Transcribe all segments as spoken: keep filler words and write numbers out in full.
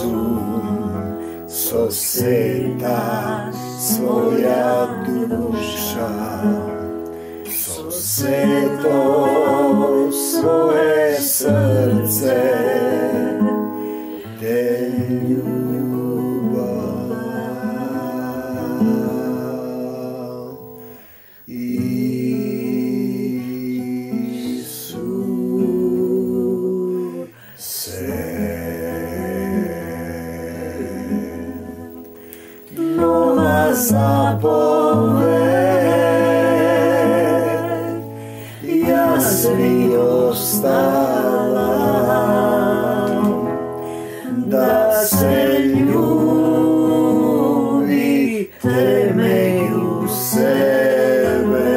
разум, со сета своја душа, со сето свое срце те љубам. Исусе, нова заповед јас ви оставам, да се љубите меѓу себе,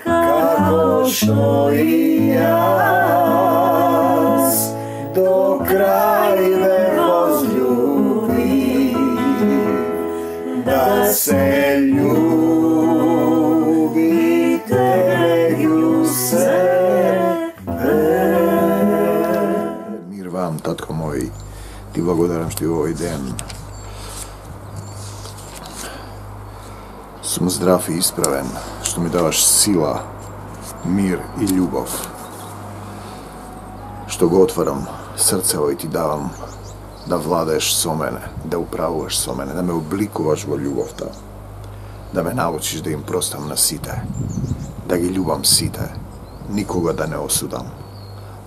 како што и јас до крај ве возљубив, да се љубите меѓу себе. Мир вам, татко мој, ти благодарам што и овој ден сум здрав и исправен, што ми даваш сила, мир и љубов, што го отварам срцево и ти давам да владееш со мене, да управуваш со мене, да ме обликуваш во љубовта, да ме научиш да им простам на сите, да ги љубам сите, никога да не осудам,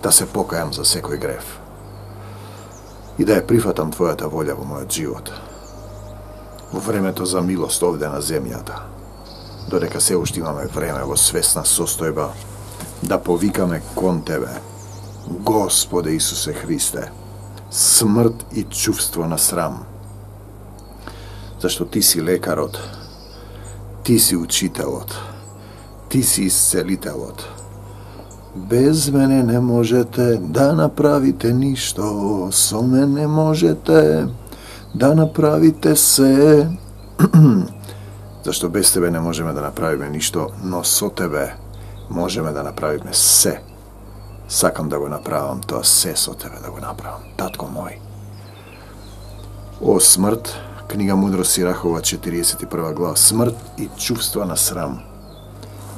да се покајам за секој грев и да ја прифатам твојата волја во мојот живот, во времето за милост овде на земјата, додека се уште имаме време во свесна состојба да повикаме кон Тебе, Господе Исусе Христе, смрт и чувство на срам, зашто Ти си лекарот, Ти си учителот, Ти си исцелителот. Без мене не можете да направите ништо, со мене можете да направите се. Зашто без Тебе не можеме да направиме ништо, но со Тебе можеме да направиме се. Сакам да го направам тоа се со Тебе да го направам, татко мој. О смрт, книга Мудрост Сирахова, четиридесет и прва глава, смрт и чувства на срам.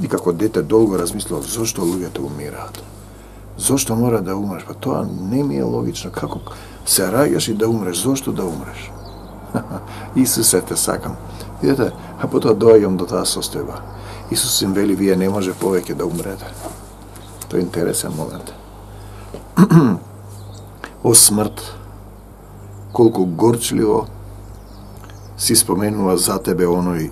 И како дете долго размислував зошто луѓето умираат. Зошто мора да умреш? Па тоа не ми е логично. Како се раѓаш и да умреш? Зошто да умреш? Исусе, те сакам. Видете, а потоа доаѓам до таа состојба. Исус им вели, вие не може повеќе да умрете. Тоа е интересен момент. О смрт, колку горчливо си споменува за тебе оној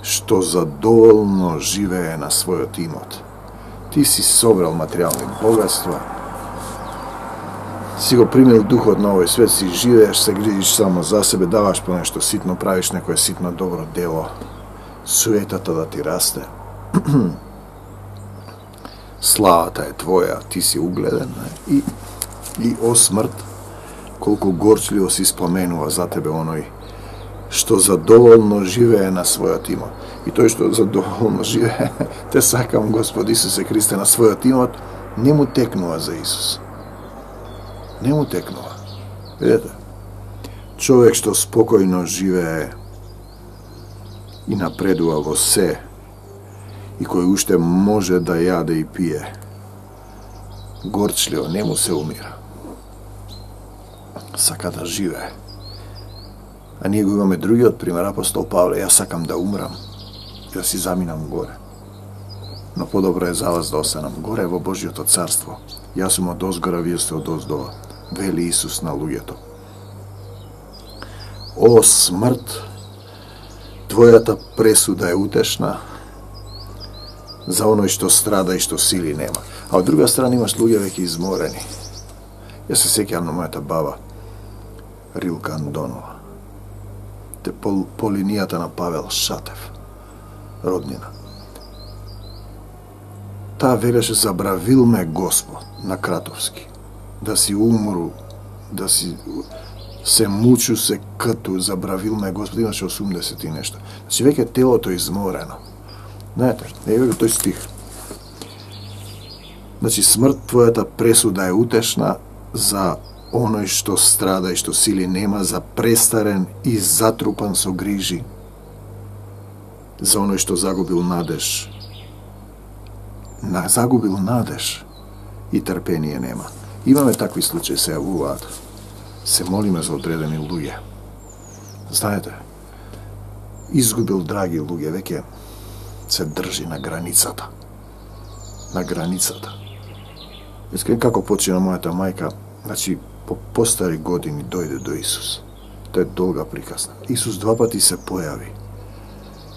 што задоволно живее на својот имот. Ти си собрал материјални богатства, си го примил духот на овој свет, си живееш, се грижиш само за себе, даваш по нешто ситно, правиш некое ситно добро дело, суетата да ти расте. Славата е твоја, ти си угледен. И, и о смрт, колку горчливо си споменува за тебе оној што задоволно живее на својот имот. И тој што задоволно живее, те сакам Господ Исусе Христе на својот имот, не му текнува за Исус. Не му текнува. Видете, човек што спокојно живее и напредува во се, и кој уште може да јаде и пие, горчливо, не му се умира. Сака да живее. А ние го имаме другиот пример, апостол Павле, јас сакам да умрам, да си заминам горе. Но подобро е за вас да останам горе во Божјото царство. Јас сум од озгора, вие сте од оздола, вели Исус на луѓето. О смрт, твојата пресуда е утешна за оној што страда и што сили нема. А од друга страна имаш луѓе веќе изморени. Јас се сеќавам на мојата баба, Рилка Андонова. Те по, по линијата на Павел Шатев, роднина. Таа велеше, забравил ме Господ на Кратовски, да си умру, да си се мучу, се кату, забравил ме Господ, имаше осумдесет и нешто. Значи веќе телото е изморено. Знаете, не е тој стих. Значи смрт, твојата пресуда е утешна за оној што страда и што сили нема, за престарен и затрупан со грижи, за оној што загубил надеж, на загубил надеж и трпение нема. Имаме такви случаи, се јавуваат. Се молиме за одредени луѓе. Знаете, изгубил драги луѓе, веќе се држи на границата. На границата. Искрен како почина мојата мајка, значи по постари години дојде до Исус. Тоа е долга приказна. Исус два пати се појави.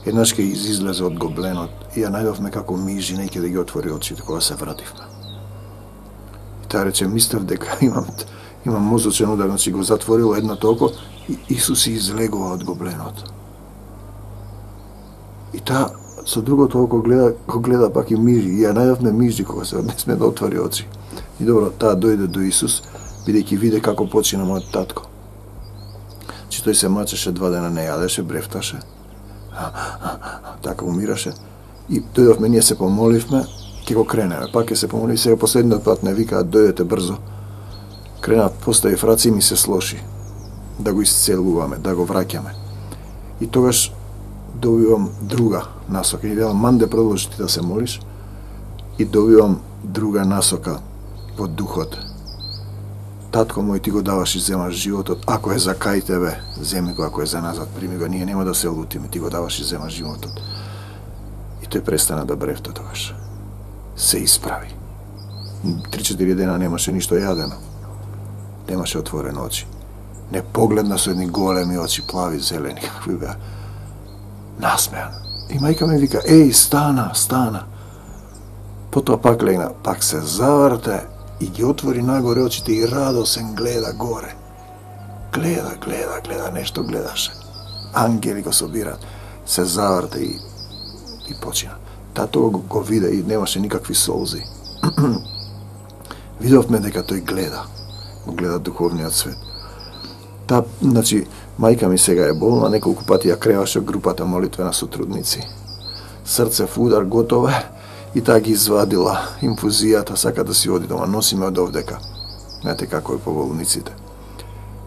Еднаш ке излезе од гобленот и ја најдовме како мижи, неќе да ги отвори очите кога се вративме. И таа рече, мислев дека имам, имам мозочен удар, значи го затворило едното око и Исус излегува од гобленот. И таа со другото око гледа, го гледа пак и мижи. И ја најдовме мижи кога се не сме да отвори очи. И добро, таа дојде до Исус, бидејќи виде како почина мојот татко. Че тој се мачеше два дена, не јадеше, брефташе. Така умираше. И дојдовме, ние се помоливме, ќе го кренеме. Пак ќе се помоливме, сега последниот пат не викаат, дојдете брзо. Кренат, поставив раци и ми се слоши. Да го исцелуваме, да го враќаме. И тогаш добивам друга насока. И велам, манде продолжи ти да се молиш. И добивам друга насока во духот. Татко мој, ти го даваш и земаш животот. Ако е за кај тебе, земи го, ако е за назад, прими го. Ние нема да се лутиме, ти го даваш и земаш животот. И тој престана да брефта тогаш. Се исправи. Три-четири дена немаше ништо јадено. Немаше отворени очи. Не погледна со едни големи очи, плави, зелени, какви беа. Насмеан. И мајка ми вика, еј, стана, стана. Потоа пак легна, пак се заврте и ги отвори нагоре очите и радосен гледа горе. Гледа, гледа, гледа, нешто гледаше. Ангели го собираат. Се заврте и, и почина. Тато го, го виде и немаше никакви солзи. Видовме дека тој гледа. Го гледа духовниот свет. Та, значи, мајка ми сега е болна, неколку пати ја креваше групата молитвена сотрудници. Срце в удар, готово е, и таа ги извадила инфузијата, сака да си оди дома, носиме од овдека. Знаете како е по болниците.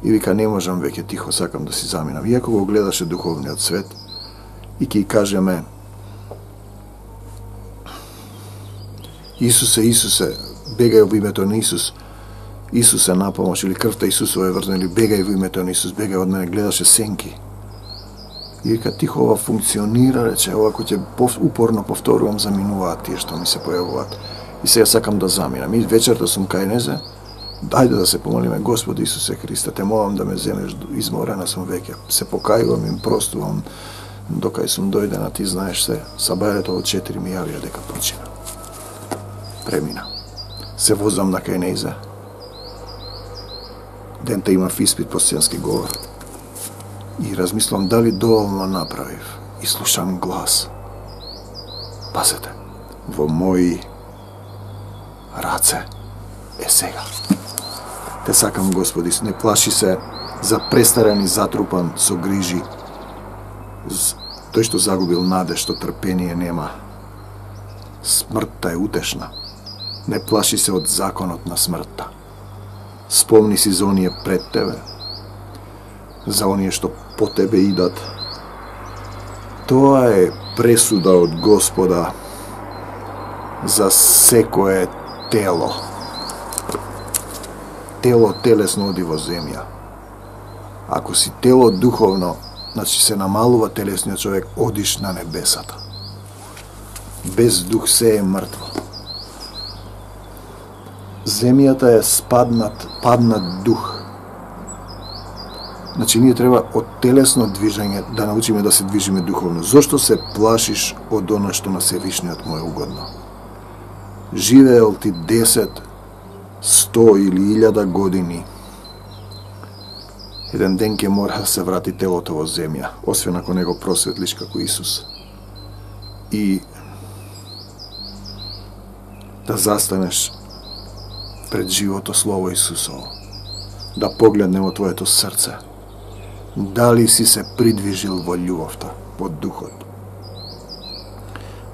И вика, не можам веќе, тихо, сакам да си заминам. Иако го гледаше духовниот свет, и ќе кажеме, Исусе, Исусе, бегај во името на Исус, Исус е на помош, или крвта Исусова е врзана, или бегај во името на Исус, бегај од мене, гледаше сенки. И вика, тихо, ова функционира, рече, ова кој ќе упорно повторувам, заминуваат тие што ми се појавуваат. И сега сакам да заминам. И вечерта сум кај незе, дајде да се помолиме, Господи Исусе Христе, те молам да ме земеш, изморена сум веќе, се покајувам, им простувам, докај сум дојдена, ти знаеш се, сабајлето од четири ми јавија дека почина. Премина. Се возам на кај незе. Дента имав испит по сценски говор. И размислам дали доволно направив. И слушам глас. Пазете, во мои раце е сега. Те сакам, Господи, не плаши се за престарен и затрупан со грижи. Тој што загубил надеж, што трпение нема. Смртта е утешна. Не плаши се од законот на смртта. Спомни си за оние пред тебе, за оние што по тебе идат. Тоа е пресуда од Господа за секое тело. Тело телесно оди во земја. Ако си тело духовно, значи се намалува телесниот човек, одиш на небесата. Без дух се е мртво. Земјата е спаднат, паднат дух. Значи, ние треба од телесно движење да научиме да се движиме духовно. Зошто се плашиш од она што на Севишниот му е угодно? Живеел ти десет, сто или илјада години. Еден ден ќе мора да се врати телото во земја, освен ако не го просветлиш како Исус. И да застанеш пред живото Слово Исусово, да погледне во твоето срце, дали си се придвижил во љубовта, во духот.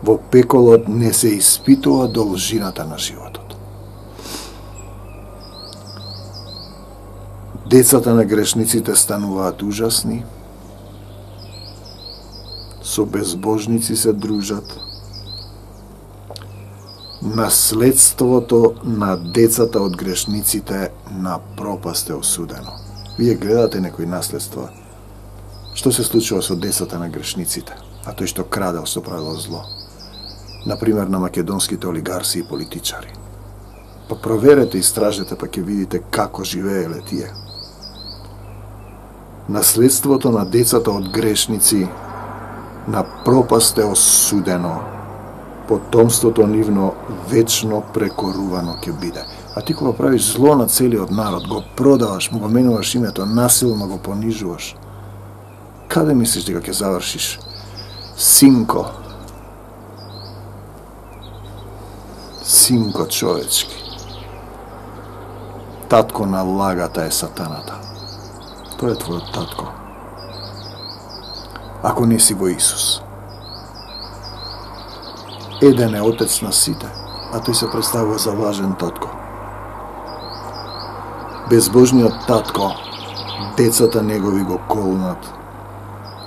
Во пеколот не се испитува должината на животот. Децата на грешниците стануваат ужасни, со безбожници се дружат. Наследството на децата од грешниците на пропаст е осудено. Вие гледате некои наследства. Што се случува со децата на грешниците? А тој што крадел, што правил зло. Например, на македонските олигарси и политичари. Па проверете, истражете, па ќе видите како живееле тие. Наследството на децата од грешници на пропаст е осудено. Потомството нивно вечно прекорувано ќе биде. А ти кога правиш зло на целиот народ, го продаваш, му го менуваш името, насилно го понижуваш, каде мислиш дека ќе завршиш? Синко. Синко човечки. Татко на лагата е сатаната. Тој е твојот татко. Ако не си во Исус. Еден е отец на сите, а тој се представува за важен татко. Безбожниот татко, децата негови го колнат,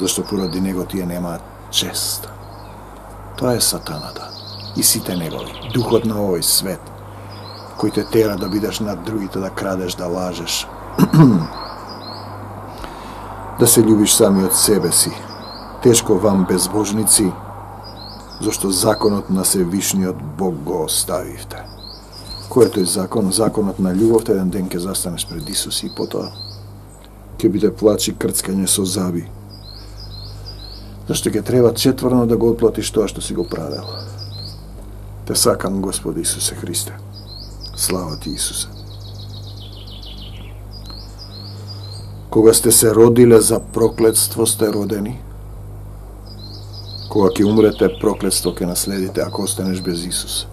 зашто поради него тие немаат чест. Тоа е сатаната и сите негови, духот на овој свет, кој те тера да бидеш над другите, да крадеш, да лажеш, да се љубиш самиот себе си. Тешко вам, безбожници, зашто законот на Севишниот Бог го оставивте. Кој е тој закон? Законот на љубовта. Еден ден ќе застанеш пред Исус и потоа ќе биде плач и крцкање со заби. Зашто ќе треба четврно да го отплатиш тоа што си го правил. Те сакам, Господи Исусе Христе. Слава ти, Исусе. Кога сте се родиле за проклетство, сте родени. Кога ќе умрете, проклетство ќе наследите ако останеш без Исус.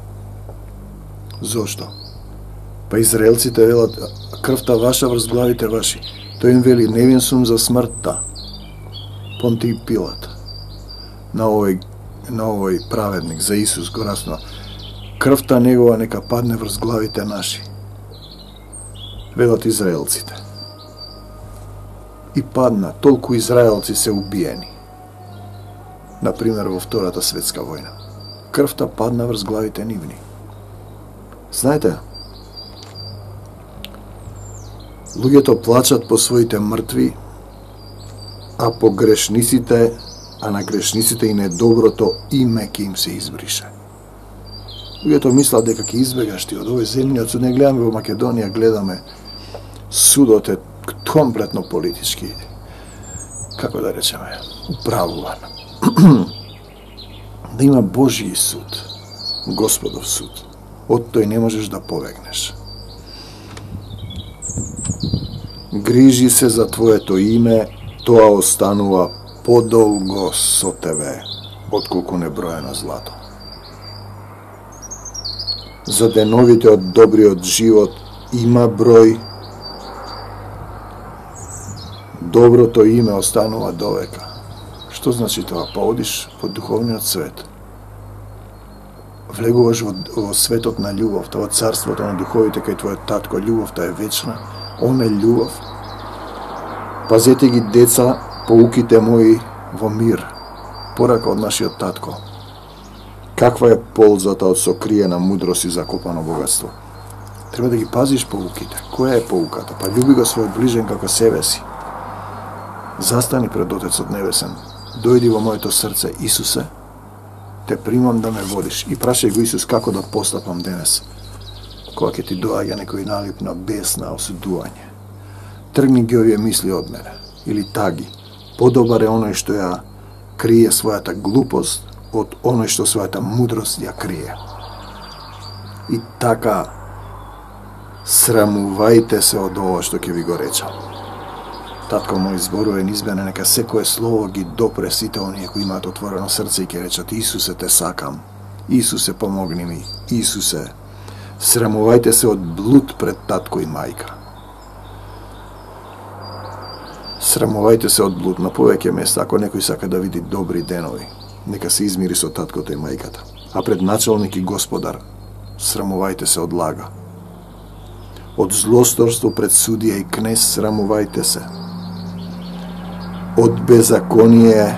Зошто? Па израелците велат, крвта ваша врз главите ваши. Тој им вели, невин сум за смртта. Понтиј Пилат. На овој, на овој праведник, за Исус го раснува. Крвта негова нека падне врз главите наши. Велат израелците. И падна, толку израелци се убиени. Например, во Втората светска војна. Крвта падна врз главите нивни. Знаете, луѓето плачат по своите мртви, а по грешниците, а на грешниците и недоброто име ќе им се избрише. Луѓето мислат дека ќе избегаш ти од овој земјиот суд. Не гледаме во Македонија, гледаме судот е комплетно политички, како да речеме, управуван. Да има Божји суд, Господов суд. Од тој не можеш да побегнеш. Грижи се за твоето име, тоа останува подолго со тебе, отколку неброено злато. За деновите од добриот живот има број, доброто име останува довека. Што значи тоа? Па одиш во духовниот свет. Влегуваш во, во светот на љубовта, во царството на духовите, кај твојот татко. Љубовта е вечна, он е љубов. Пазете ги, деца, поуките мои во мир, порака од нашиот татко. Каква е ползата од сокриена мудрост и закопано богатство? Треба да ги пазиш поуките. Која е поуката? Па љуби го свој ближен како себе си. Застани пред Отецот Небесен. Дојди во моето срце, Исусе, те примам да ме водиш. И прашај го Исус како да постапам денес, кога ќе ти доаѓа некој налип на бес, на осудување. Тргни ги овие мисли од мене, или таги. Подобар е оној што ја крие својата глупост од оној што својата мудрост ја крие. И така, срамувајте се од ова што ќе ви го речам. Татко мој, зборувен избене, нека секое слово ги допре сите оние кои имаат отворено срце и ќе речат: Исусе, те сакам. Исусе, помогни ми. Исусе, срамувајте се од блуд пред татко и мајка. Срамувајте се од блуд на повеќе места, ако некој сака да види добри денови. Нека се измири со таткото и мајката. А пред началник и господар, срамувајте се од лага. Од злосторство пред судија и кнез срамувајте се. Од беззаконие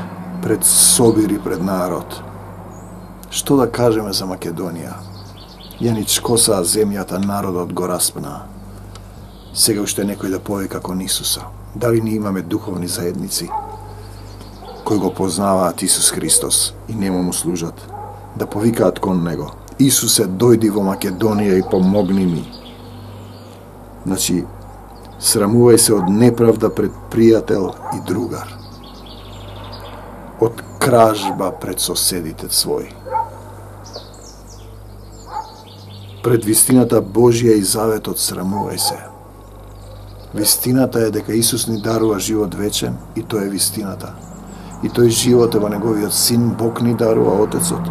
пред собир и пред народ. Што да кажеме за Македонија? Ја ни чкосаа земјата, народот го распна. Сега уште некој да повика кон Исуса. Дали ни имаме духовни заедници кои го познаваат Исус Христос и нему му служат, да повикаат кон Него: Исусе, дојди во Македонија и помогни ми. Значи, срамувај се од неправда пред пријател и другар, од кражба пред соседите своји, пред вистината Божија и заветот срамувај се. Вистината е дека Исус ни дарува живот вечен и тој е вистината. И тој живот е во Неговиот Син, Бог ни дарува Отецот.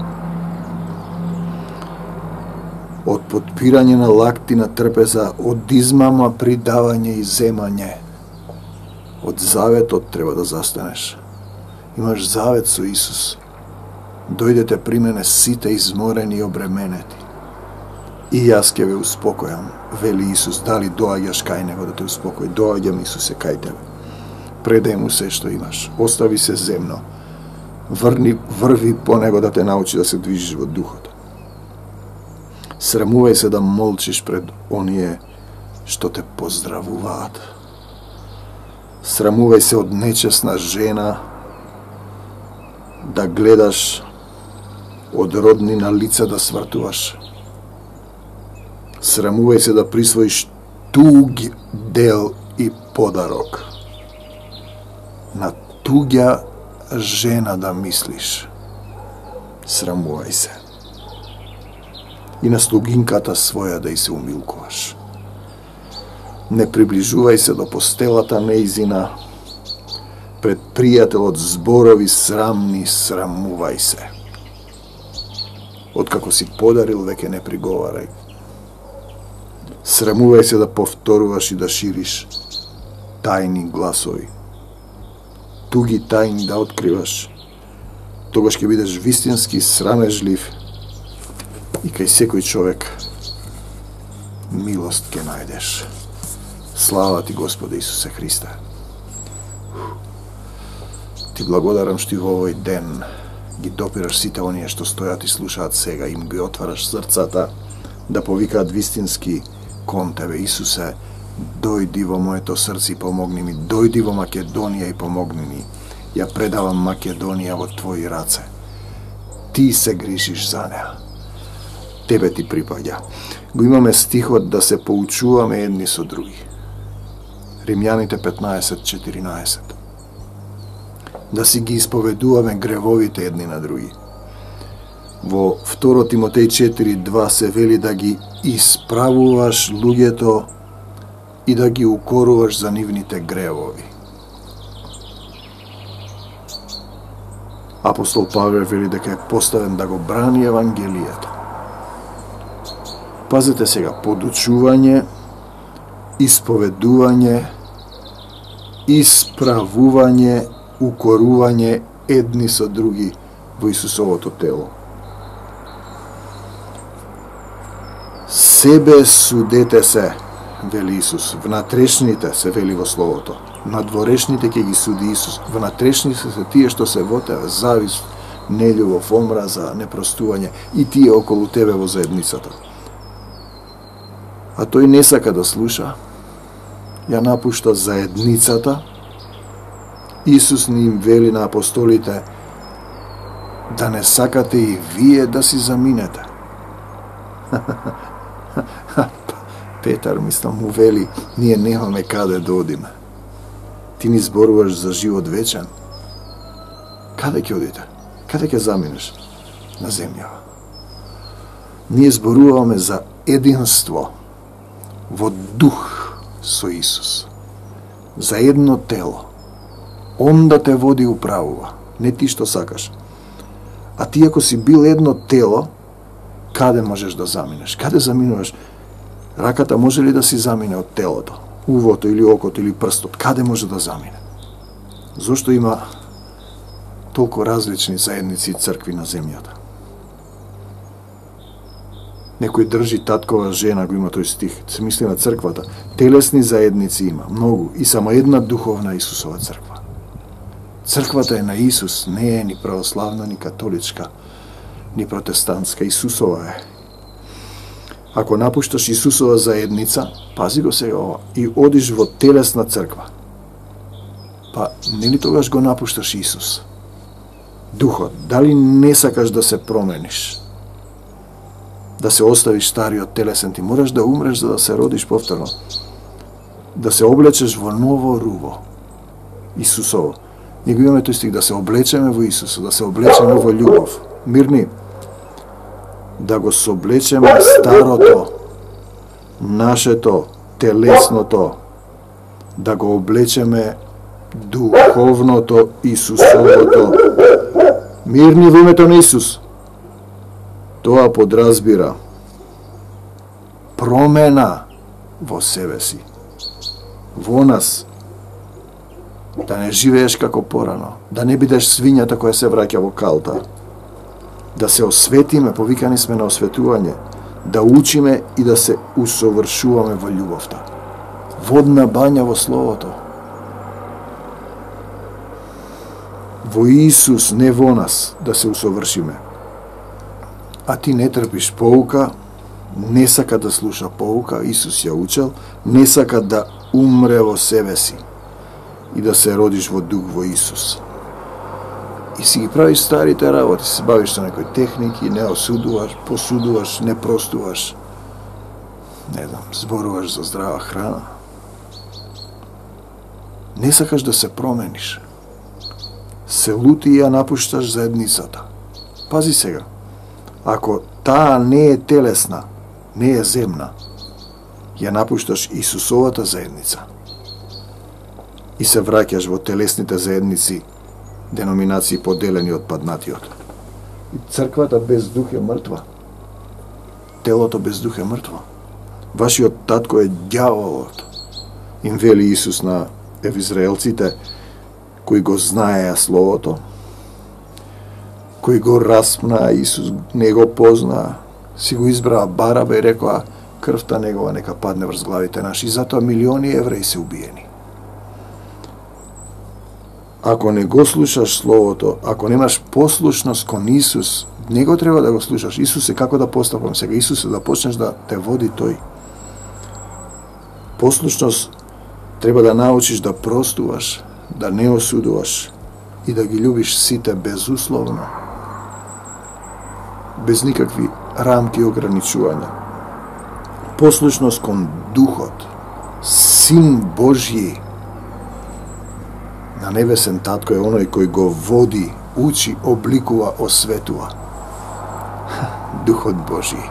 Од подпирање на лакти на трпеза, од измама, придавање и земање. Од заветот треба да застанеш. Имаш завет со Исус. Дојдете при мене сите изморени и обременети, и јас ќе ве успокојам, вели Исус. Дали доаѓаш кај Него да те успокои? Доаѓам, Исусе, кај тебе. Предај му се што имаш. Остави се земно. Врни, врви по Него да те научи да се движиш во духот. Срамувај се да молчиш пред оние што те поздравуваат. Срамувај се од нечесна жена, да гледаш од родни на лица да свртуваш. Срамувај се да присвоиш туг дел и подарок. На туѓа жена да мислиш. Срамувај се. И на слугинката своја да и се умилкуваш. Не приближувај се до постелата неизина, пред пријателот зборови срамни, срамувај се. Откако си подарил, веќе не приговарај. Срамувај се да повторуваш и да шириш тајни гласови. Туги тајни да откриваш. Тогаш ќе бидеш вистински срамежлив и кај секој човек милост ќе најдеш. Слава ти, Господе Исусе Христе. Ти благодарам што и во овој ден ги допираш сите оние што стојат и слушаат сега, им ги отвараш срцата да повикаат вистински кон Тебе. Исусе, дојди во моето срце и помогни ми. Дојди во Македонија и помогни ми. Ја предавам Македонија во Твои раце. Ти се грижиш за неа. Тебе ти припаѓа. Го имаме стихот да се поучуваме едни со други. Римјаните петнаесет четиринаесет. Да си ги исповедуваме гревовите едни на други. Во второ Тимотеј четири два се вели да ги исправуваш луѓето и да ги укоруваш за нивните гревови. Апостол Павле вели дека е поставен да го брани Евангелието. Пазете сега, подучување, исповедување, исправување, укорување едни со други во Исусовото тело. Себе судете се, вели Исус. Внатрешните се вели во Словото. Надворешните ќе ги суди Исус. Внатрешните се тие што се во тебе, завист, нељубов, омраза, непростување и тие околу тебе во заедницата. А тој не сака да слуша. Ја напушта заедницата. Исус ни им вели на апостолите да не сакате и вие да си заминете. Петар, мислам, му вели, ние немаме каде да одиме. Ти ни зборуваш за живот вечен. Каде ќе одите? Каде ќе заминеш? На земјава. Ние зборуваме за единство во дух со Исус. За едно тело. Он да те води управува, не ти што сакаш. А ти ако си бил едно тело, каде можеш да заминеш? Каде заминуваш? Раката може ли да си замине од телото? Увото или окото или прстот? Каде може да замине? Зошто има толку различни заедници и цркви на земјата? Некој држи таткова жена, го има тој стих, се мисли на црквата. Телесни заедници има, многу, и само една духовна Исусова црква. Црквата е на Исус, не е ни православна, ни католичка, ни протестантска, Исусова е. Ако напушташ Исусова заедница, пази го сега ова, и одиш во телесна црква, па нели тогаш го напушташ Исус? Духот, дали не сакаш да се промениш? Да се оставиш стариот телесен, ти мораш да умреш за да се родиш повторно. Да се облечеш во ново руво. Исусово. Ние го имаме тој стих, да се облечеме во Исуса, да се облечеме во љубов. Мирни, да го соблечеме старото, нашето, телесното, да го облечеме духовното, Исусовото. Мирни во името на Исус. Тоа подразбира промена во себе си, во нас, да не живееш како порано, да не бидеш свињата која се враќа во калта, да се осветиме, повикани сме на осветување, да учиме и да се усовршуваме во љубовта. Водна бања во Словото. Во Исус, не во нас, да се усовршиме. А ти не трпиш поука, не сака да слуша поука, Исус ја учел, не сака да умре во себе си и да се родиш во дух во Исус. И си ги правиш старите работи, се бавиш со некои техники, не осудуваш, посудуваш, не простуваш, не знам, зборуваш за здрава храна. Не сакаш да се промениш. Се лути и ја напушташ заедницата. Пази сега. Ако таа не е телесна, не е земна, ја напушташ Исусовата заедница и се враќаш во телесните заедници, деноминации поделени од паднатиот. И црквата без дух е мртва. Телото без дух е мртво. Вашиот татко е ѓаволот, им вели Исус на евизраелците кои го знаеа Словото, кои го распнаа, Исус не го познаа, си го избраа Бараба и рекоа, крвта негова нека падне врз главите наши. И затоа милиони евреи се убиени. Ако не го слушаш Словото, ако немаш послушност кон Исус, него треба да го слушаш. Исус е како да постапам сега. Исус е да почнеш да те води тој. Послушност треба да научиш да простуваш, да не осудуваш и да ги љубиш сите безусловно, без никакви рамки и ограничувања. Послушност кон Духот, Син Божји, на небесен татко е оној кој го води, учи, обликува, осветува. Духот Божји,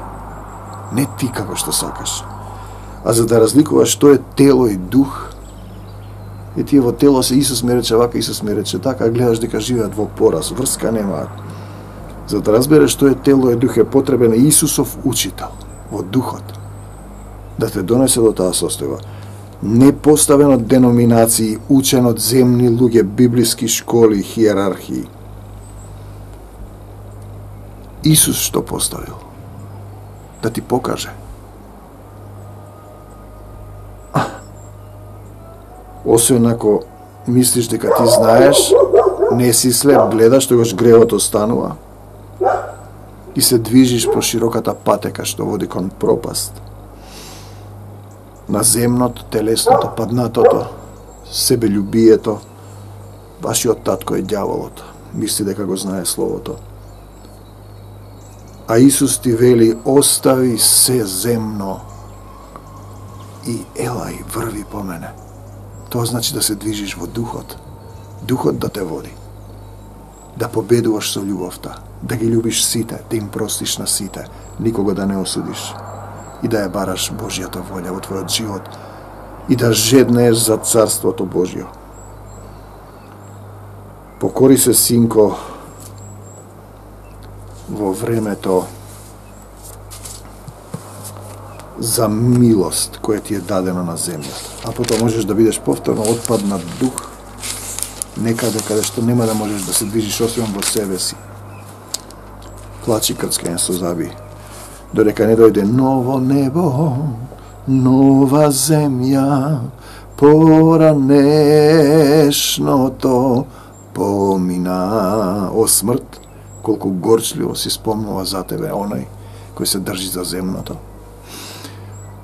не ти како што сакаш. А за да разликуваш што е тело и дух, и тие во тело се Исус ми рече вака, Исус ми рече така, гледаш дека живеат во пораз, врска немаат. За да разбереш што е тело и дух е потребен Исусов учител во духот, да те донесе до таа состојба. Не поставен од деноминации, учен од земни луѓе, библиски школи, хиерархии. Исус што поставил? Да ти покаже. Освен ако мислиш дека ти знаеш, не си слеп, гледаш, тогаш гревот останува и се движиш по широката патека што води кон пропаст. На земното, телесното, паднатото, себелюбието, вашиот татко е ѓаволот, мисли дека го знае Словото. А Исус ти вели, остави се земно и елај, врви по мене. Тоа значи да се движиш во духот, духот да те води, да победуваш со љубовта, да ги љубиш сите, да им простиш на сите, никога да не осудиш и да ја бараш Божјата волја во твојот живот и да жеднееш за Царството Божјо. Покори се, синко, во времето за милост која ти е дадена на земјата. А потоа можеш да бидеш повторно отпаднат дух, некаде каде што нема да можеш да се движиш освен во себе си. Плачи, крцкање со заби. додека не дојде ново небо, нова земја, поранешното помина. О смрт, колку горчливо си спомнува за тебе оној кој се држи за земното.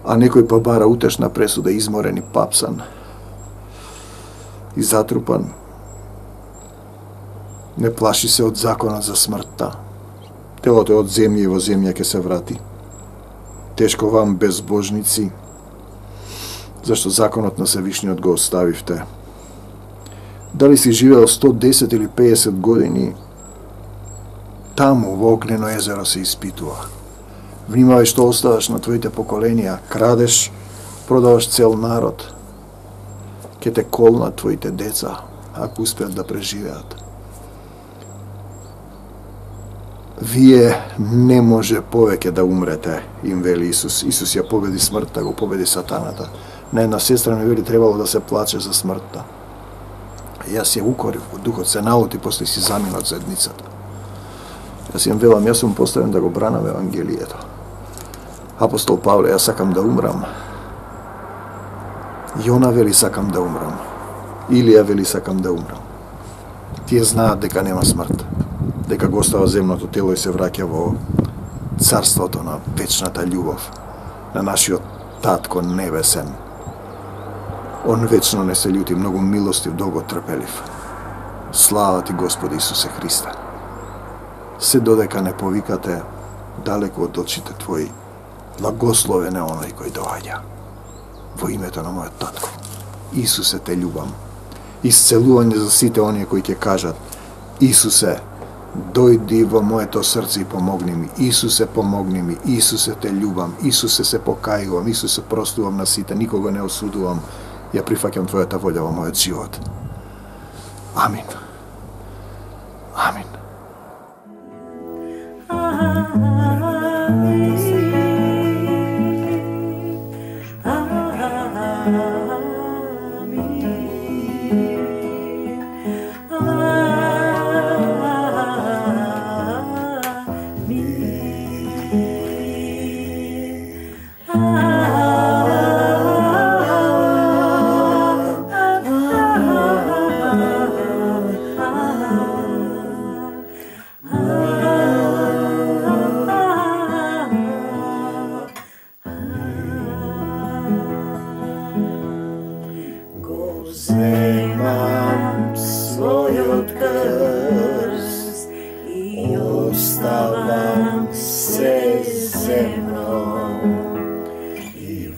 А некој па бара утешна пресуда, изморен и папсан и затрупан. Не плаши се од законот за смртта. Телото е од земја и во земја ќе се врати. Тешко вам безбожници, зашто законот на Севишниот го оставивте. Дали си живеел сто десет или педесет години, таму во огнено езеро се испитува. Внимавај што оставаш на твоите поколенија, крадеш, продаваш цел народ. Ке те колнат твоите деца, ако успеат да преживеат. Вие не може повеќе да умрете, им вели Исус. Исус ја победи смртта, го победи сатаната. На една сестра ми вели требало да се плаче за смртта. Јас ја укорив во духот, се налути, после си замина од зедницата. Јас им велам, јас сум поставен да го бранам Евангелието. Апостол Павле, јас сакам да умрам. Јона вели сакам да умрам. Илија вели сакам да умрам. Тие знаат дека нема смрт, дека го остава земното тело и се враќа во царството на вечната љубов, на нашиот Татко небесен. Он вечно не се љути, многу милостив, долго трпелив. Слава ти, Господи Исусе Христе. Се додека не повикате далеку од очите Твои, благословен е оној кој доаѓа. Во името на мојот Татко, Исусе, те љубам. Исцелување за сите оние кои ќе кажат: Исусе, дојди во моето срце и помогни ми. Исусе, помогни ми. Исусе, те љубам. Исусе, се покајувам. Исусе, простувам на сите. Никога не осудувам. Ја прифаќам Твојата волја во мојот живот. Амин. Амин. Земам својот крст и оставам се земно и